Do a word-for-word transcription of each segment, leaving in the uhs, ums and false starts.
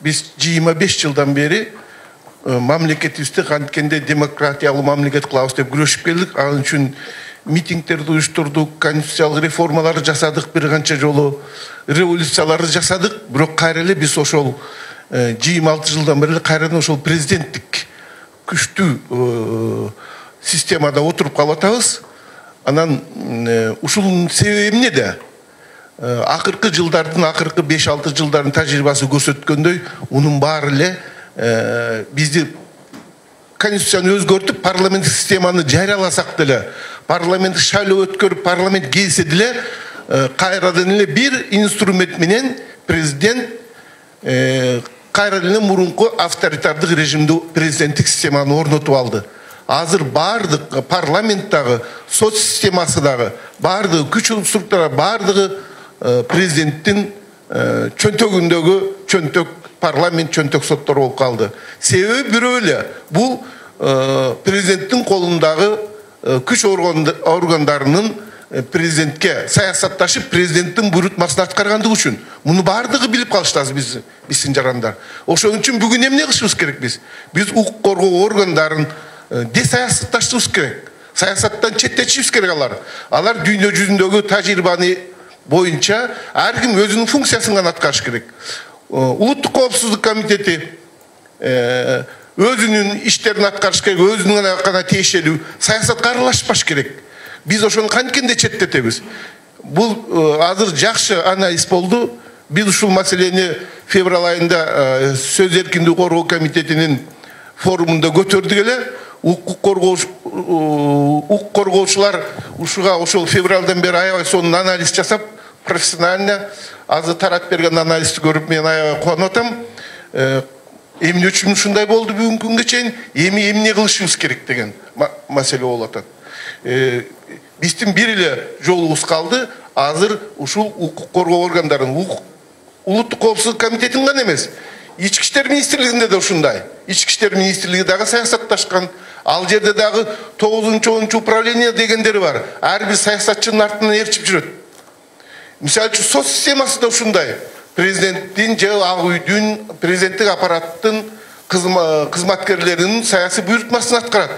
Биз жыйырма беш жылдан бери мамлекетибизде канткенде демократиялуу мамлекет кылабыз деп күрөшүп келдик. Ал үчүн митингтерди уюштурдук, конституциялык реформаларды жасадык, бир канча жолу революцияларды жасадык. Бирок кайра эле биз ошол жыйырма алты жылдан бери кайрадан ошол президенттик күчтүү системада отуруп калып атабыз. Анан ушунун себеби эмнеде? Акыркы жылдардын, акыркы беш алты жылдардын тажрыйбасы көрсөткөндөй, унун баары эле бизди конституцияны өзгөртүп, парламенттик системаны жарыяласак деле, парламент шайлоо өткөрүп, парламент келсе деле, кайрадан эле бир инструмент менен президент кайрадан эле мурунку авторитардык режимди президенттик системаны орнотуп алды. Азыр бардык парламенттагы, сот системасы дагы, бардыгы күч структура, бардыгы президенттин чөнтөгүндөгү чөнтөк парламент, чөнтөк соттор болуп калды. Себеби бирөө эле, бул президенттин колундагы күч органдарынын президентке саясатташып, президенттин буйрутмасын аткаргандыгы үчүн. Муну бардыгы билип калыштабыз биз, биздин жарандар. Ошон үчүн бүгүн эмне кылышыбыз керек биз? Биз укук коргоо органдарын десаясатташтырыбыз керек. Саясаттан четтетишибиз керек алар. Алар дүйнө жүзүндөгү тажрыйбаны боюнча ар ким өзүнүн функциясын гана аткарыш керек. Улуттук коопсуздук комитети өзүнүн иштерин аткарыш керек, өзүнүн гана тиешелүү, саясатка аралашпаш керек. Биз ошону канткенде четтетебиз. Бул азыр жакшы анализ болду. Биз ушул маселени февраль айында сөз эркиндиги коргоо комитетинин форумунда көтөрдүк эле. Укук коргоочулар ушуга ошол февралдан бери аябай сонун анализ жасап, профессионально азыр тарап берген анализди көрүп мен аябай кубанып атам. Эмне үчүн ушундай болду бүгүнкү күнгө чейин, эми эмне кылышыбыз керек деген маселе болуп атат. Биздин бир эле жолубуз калды. Азыр ушул укук коргоо органдарын, улуттук коопсуздук комитетин гана эмес, Ички иштер министрлигинде да ушундай. Ички иштер министрлиги дагы саясатташкан. Ал жерде дагы тогузунчу онунчу управление дегендери бар. Ар бир саясатчынын артынан ээрчип жүрөт. Мисалы үчүн сот системасы да ушундай. Президенттин же ак үйдүн, президенттик аппараттын кызматкерлеринин саясий буйрутмасын аткарат.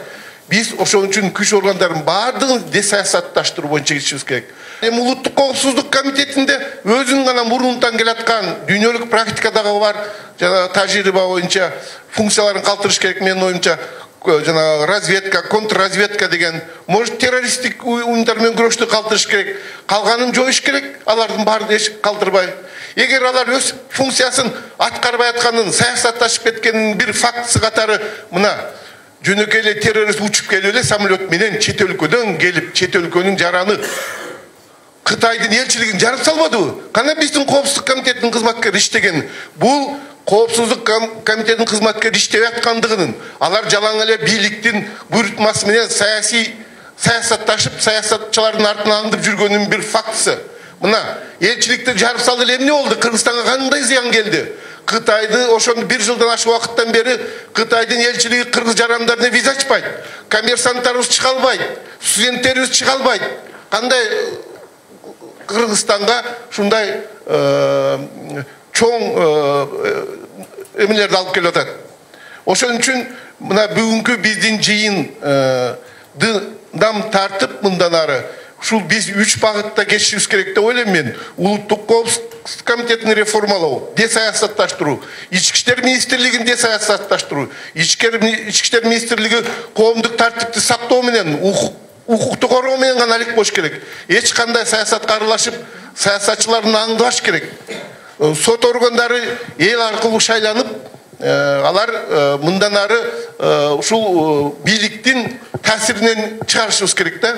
Биз ошон үчүн күч органдарын баардыгын десаясатташтыруу боюнча кетишибиз керек. Эми улуттук коопсуздук комитетинде өзүнүн гана мурунтан келаткан дүйнөлүк практикадагы бар жана тажрыйба боюнча функцияларын калтырыш керек. Менин оюмча жана разведка, контрразведка деген, может террористтик уюмдар менен күрөштү калтырыш керек. Калганын жоюш керек, алардын баарын эч калтырбай. Эгер алар өз функциясын аткарбай атканын, саясатташып кеткенин бир фактысы катары мына жөнөкөй эле террорист учуп келип эле самолет менен чет өлкөдөн келип, чет өлкөнүн жараны Кытайдын элчилигин жарып салбадыбы? Кана биздин коопсуздук комитетинин кызматкери иштеген. Бул коопсуздук комитетинин кызматкери иштеп аткандыгынын, алар жалаң эле бийликтин буйрутмасы менен саясий саясатташып, саясатчылардын артынан аңдып жүргөнүнүн бир фактысы. Мына элчиликти жарып салды эле эмне болду? Кыргызстанга кандай зыян келди? Кытайды ошону бир жылдан ашык убакыттан бери Кытайдын элчилиги кыргыз жарандарына виза ачпайт. Коммерсанттарыбыз чыга албайт, студенттерибиз чыга албайт. Кандай Кыргызстанга шундай чоң эмелерди алып келип атат. Ошон үчүн мына бүгүнкү биздин жыйынды дам тартып мындан ары ушул биз үч багытта кетишибиз керек деп ойлойм мен. Улуттук коопсуздук комитетин реформалоо, десаясатташтыруу, ички иштер министрлигин десаясатташтыруу, ички иштер министрлиги коомдук тартипти сактоо менен, укукту коргоо менен гана алек болуш керек. Эч кандай саясатка аралашып, саясатчылардын аңдыбаш керек. Сот органдары эл аркылуу шайланып, алар мындан ары ушул бийликтин таасиринен чыгарышыбыз керек да.